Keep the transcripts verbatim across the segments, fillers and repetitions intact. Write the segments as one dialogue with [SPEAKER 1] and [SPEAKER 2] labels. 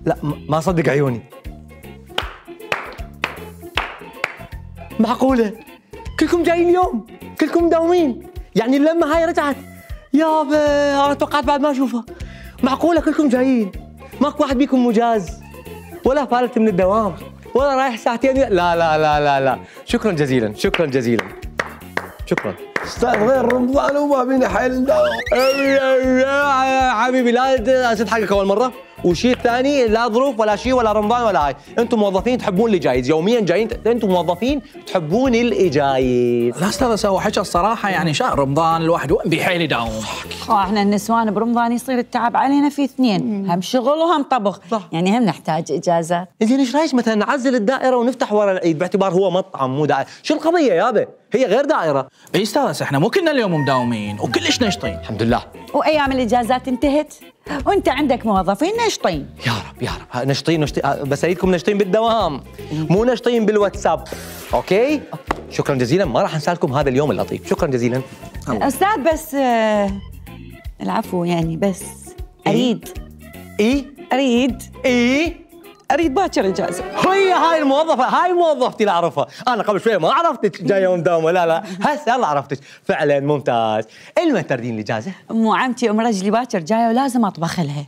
[SPEAKER 1] لا ما صدق عيوني. معقولة؟ كلكم جايين اليوم؟ كلكم مداومين؟ يعني اللمة هاي رجعت؟ يابا انا توقعت بعد ما اشوفها. معقولة كلكم جايين؟ ماكو واحد بيكم مجاز؟ ولا فالت من الدوام؟ ولا رايح ساعتين؟ لا لا لا لا لا. شكرا جزيلا شكرا جزيلا. شكرا.
[SPEAKER 2] استاذ غير رمضان وما بينا حيل نداوم.
[SPEAKER 1] حبيبي لا اسد حقك اول مرة، وشيء ثاني لا ظروف ولا شيء ولا رمضان ولا هاي، انتم موظفين تحبون الجايز، يوميا جايين، انتم موظفين تحبون الجايز.
[SPEAKER 3] لا استاذ اسوي حكى الصراحه يعني شهر رمضان الواحد وين بيحيل يداوم.
[SPEAKER 4] احنا النسوان برمضان يصير التعب علينا في اثنين، هم شغل وهم طبخ، صح. يعني هم نحتاج اجازات.
[SPEAKER 1] زين ايش رايك مثلا نعزل الدائره ونفتح ورا العيد باعتبار هو مطعم مو دائره، شو القضيه يابا؟ هي غير دائره.
[SPEAKER 3] اي استاذ احنا مو كنا اليوم مداومين وكلش نشطين
[SPEAKER 1] الحمد لله.
[SPEAKER 4] وايام الاجازات انتهت وانت عندك موظفين نشطين.
[SPEAKER 1] يا رب يا رب نشطين نشطين، بس اريدكم نشطين بالدوام مو نشطين بالواتساب. اوكي؟ شكرا جزيلا، ما راح انسالكم هذا اليوم اللطيف، شكرا جزيلا.
[SPEAKER 4] استاذ بس آه العفو يعني بس اريد
[SPEAKER 1] اي
[SPEAKER 4] اريد
[SPEAKER 1] اي
[SPEAKER 4] اريد باكر اجازه.
[SPEAKER 1] هي هاي الموظفه، هاي موظفتي اللي اعرفها، انا قبل شوي ما عرفتك جايه مداومه، لا لا هسه يلا عرفتك، فعلا ممتاز. المتى تردين الاجازه؟
[SPEAKER 4] مو عمتي ام رجلي باكر جايه ولازم اطبخ لها.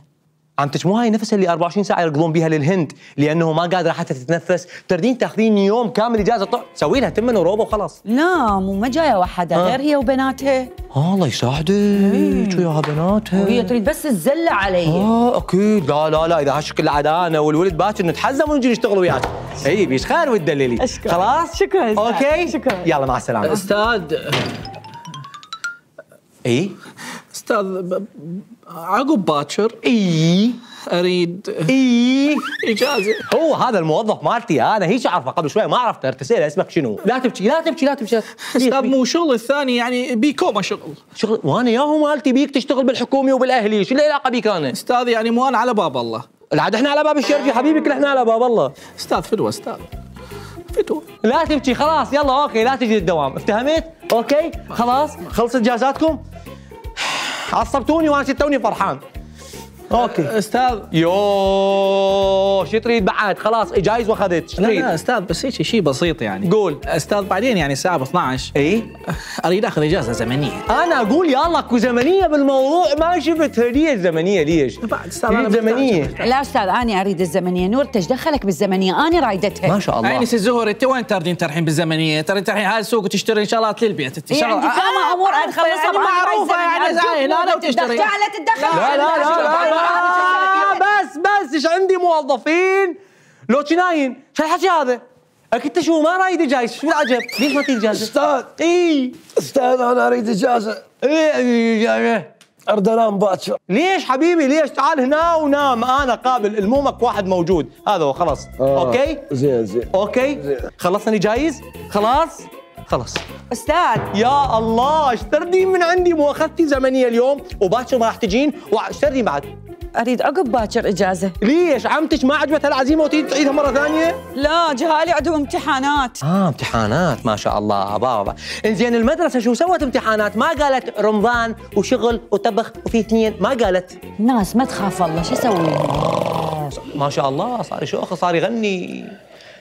[SPEAKER 1] عمتك مو هاي نفسها اللي أربعة وعشرين ساعه يركضون بيها للهند لانه ما قادره حتى تتنفس، تردين تاخذين يوم كامل اجازه طلع سوي لها تمن وروبه وخلاص.
[SPEAKER 4] لا مو ما جايه وحده غير هي وبناتها.
[SPEAKER 1] آه الله يساعدك وياها بناتها.
[SPEAKER 4] وهي تريد بس تزلع علي.
[SPEAKER 1] اه اكيد. لا لا لا اذا هالشكل عاد انا والولد باكر نتحزم ونجي نشتغل وياك. اي بيش خير وتدللي.
[SPEAKER 4] أشكر.
[SPEAKER 1] خلاص
[SPEAKER 4] شكرا أستاذ.
[SPEAKER 1] اوكي
[SPEAKER 4] شكرا.
[SPEAKER 1] يلا مع السلامه.
[SPEAKER 3] استاذ
[SPEAKER 1] اي
[SPEAKER 3] استاذ عقب باكر
[SPEAKER 1] اي
[SPEAKER 3] اريد
[SPEAKER 1] اي
[SPEAKER 3] اجازه.
[SPEAKER 1] هو هذا الموظف مالتي انا، هيك اعرفه قبل شوي ما عرفته، تسأله اسمك شنو؟ لا تبكي لا تبكي لا تبكي.
[SPEAKER 3] استاذ مو شغل الثاني يعني بيكوما شغل.
[SPEAKER 1] شغل وانا ياهو مالتي بيك تشتغل بالحكومي وبالاهلي، شو العلاقه بيك انا؟
[SPEAKER 3] استاذ يعني مو انا على باب الله.
[SPEAKER 1] العاد احنا على باب الشرجي حبيبي، كل احنا على باب الله.
[SPEAKER 3] استاذ فدوه استاذ فدوه.
[SPEAKER 1] لا تبكي خلاص يلا اوكي لا تجي للدوام، افتهمت؟ اوكي خلاص خلصت اجازاتكم؟ عصبتوني وانا توني فرحان. اوكي
[SPEAKER 3] استاذ.
[SPEAKER 1] يو شو تريد بعد؟ خلاص جايز واخذت.
[SPEAKER 3] لا لا استاذ بس هيك شيء بسيط يعني.
[SPEAKER 1] قول.
[SPEAKER 3] استاذ بعدين يعني الساعه اثنعش
[SPEAKER 1] اي
[SPEAKER 3] اريد اخذ اجازه زمنيه.
[SPEAKER 1] انا اقول يلا اكو زمنيه بالموضوع، ما شفتها ليش زمنيه ليش؟
[SPEAKER 3] بعد استاذ انا
[SPEAKER 1] زمنيه.
[SPEAKER 4] لا استاذ انا اريد الزمنيه، نور ايش دخلك بالزمنيه؟ انا رايدتها.
[SPEAKER 1] ما شاء الله.
[SPEAKER 3] عيني سي الزهر انت وين تردين ترحين بالزمنيه؟ ترى ترحين هاي السوق وتشتري شغلات للبيت انت.
[SPEAKER 4] يعني عندي كم امور نخلصها
[SPEAKER 3] معروفه يعني زين انا وتشتري.
[SPEAKER 4] لا تتدخل.
[SPEAKER 1] لا لا لا لا بس بس ايش عندي موظفين لو ناين، شو الحكي هذا؟ اكيد شو ما رايد جايز، شو العجب؟ ليش ما تريد اجازه؟
[SPEAKER 2] استاذ
[SPEAKER 1] اي
[SPEAKER 2] استاذ انا اريد اجازه.
[SPEAKER 1] ايه
[SPEAKER 2] اريد انام باكر.
[SPEAKER 1] ليش حبيبي ليش؟ تعال هنا ونام، انا قابل المومك واحد موجود، هذا هو خلاص.
[SPEAKER 2] آه.
[SPEAKER 1] اوكي؟
[SPEAKER 2] زين زين
[SPEAKER 1] اوكي؟
[SPEAKER 2] زين.
[SPEAKER 1] خلصني جايز؟ خلاص؟ خلاص.
[SPEAKER 4] استاذ
[SPEAKER 1] يا الله ايش تردين من عندي؟ مو اخذتي زمنيه اليوم وباكر ما راح تجين، وايش تردين بعد؟
[SPEAKER 4] اريد عقب باكر اجازه.
[SPEAKER 1] ليش؟ عمتك ما عجبتها العزيمه وتريد تعيدها مره ثانيه؟
[SPEAKER 4] لا جهالي عندهم امتحانات.
[SPEAKER 1] اه امتحانات ما شاء الله بابا. انزين المدرسه شو سوت امتحانات؟ ما قالت رمضان وشغل وطبخ وفي اثنين، ما قالت.
[SPEAKER 4] الناس ما تخاف الله شو اسوي لهم؟
[SPEAKER 1] ما شاء الله صار يشوخ صار يغني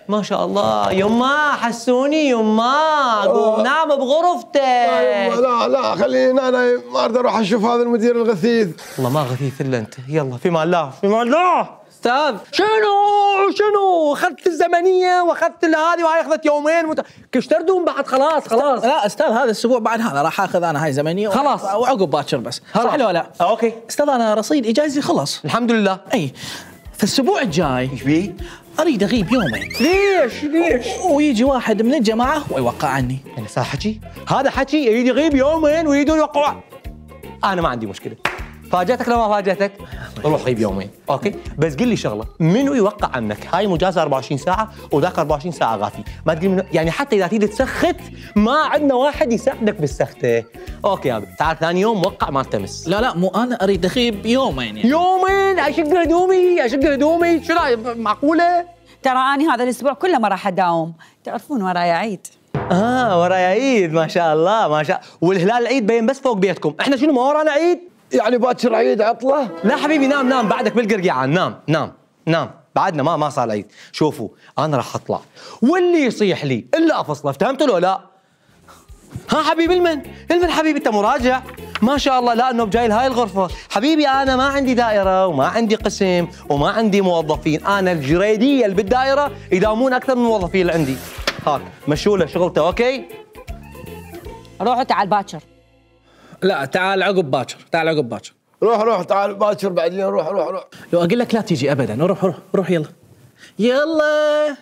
[SPEAKER 1] ما شاء الله. يما حسوني يما قوم نام بغرفتك.
[SPEAKER 2] لا لا خليني انا ما اقدر اروح اشوف هذا المدير الغثيث.
[SPEAKER 1] والله ما غثيث الا انت. يلا في مال الله في مال الله.
[SPEAKER 3] استاذ
[SPEAKER 1] شنو شنو اخذت الزمنيه واخذت هذه وهاي اخذت يومين مت... كيف تردون بعد؟ خلاص خلاص.
[SPEAKER 3] لا استاذ هذا الاسبوع بعد هذا راح اخذ انا هاي زمنيه
[SPEAKER 1] خلاص
[SPEAKER 3] وعقب باكر بس. صح ولا لا؟
[SPEAKER 1] اوكي
[SPEAKER 3] استاذ انا رصيد اجازتي خلص
[SPEAKER 1] الحمد لله.
[SPEAKER 3] اي فالاسبوع الجاي
[SPEAKER 1] ايش بيه؟
[SPEAKER 3] اريد اغيب يومين.
[SPEAKER 1] ليش ليش؟
[SPEAKER 3] ويجي واحد من الجماعه ويوقع عني.
[SPEAKER 1] يعني صار حكي؟ هذا حكي يريد يغيب يومين ويريدون يوقعوا. انا ما عندي مشكله. فاجأتك لو ما فاجأتك روح غيب يومين، اوكي؟ بس قل لي شغله، منو يوقع عنك؟ هاي مجازة أربعة وعشرين ساعة وذاك أربعة وعشرين ساعة غافي، ما تقول منو، يعني حتى إذا تريد تسخت ما عندنا واحد يساعدك بالسخته. اوكي يا تعال ثاني يوم وقع ما التمس.
[SPEAKER 3] لا لا مو انا اريد اغيب يومين يعني.
[SPEAKER 1] يومين؟ اشق هدومي اشق هدومي شو معقوله؟
[SPEAKER 4] ترى اني هذا الاسبوع كله ما راح اداوم، تعرفون وراي عيد.
[SPEAKER 1] اه ورايا عيد ما شاء الله ما شاء، والهلال العيد بين بس فوق بيتكم، احنا شنو ما ورانا عيد؟
[SPEAKER 2] يعني باكر عيد عطله؟
[SPEAKER 1] لا حبيبي نام نام بعدك بالقرقيعان، نام نام نام بعدنا ما ما صار العيد. شوفوا انا راح اطلع واللي يصيح لي الا افصله، فهمتوا لو لا؟ ها حبيبي المن، المن حبيبي انت مراجع ما شاء الله. لا انه جاي لهاي الغرفه حبيبي، انا ما عندي دائره وما عندي قسم وما عندي موظفين، انا الجريديه اللي بالدائره يداومون اكثر من الموظفين اللي عندي. هاك مشوا له شغلته. اوكي
[SPEAKER 4] روحوا تعال باكر.
[SPEAKER 3] لا تعال عقب باكر، تعال عقب باكر.
[SPEAKER 2] روح روح تعال باكر بعدين روح روح روح.
[SPEAKER 3] لو اقول لك لا تيجي ابدا. روح روح روح يلا يلا.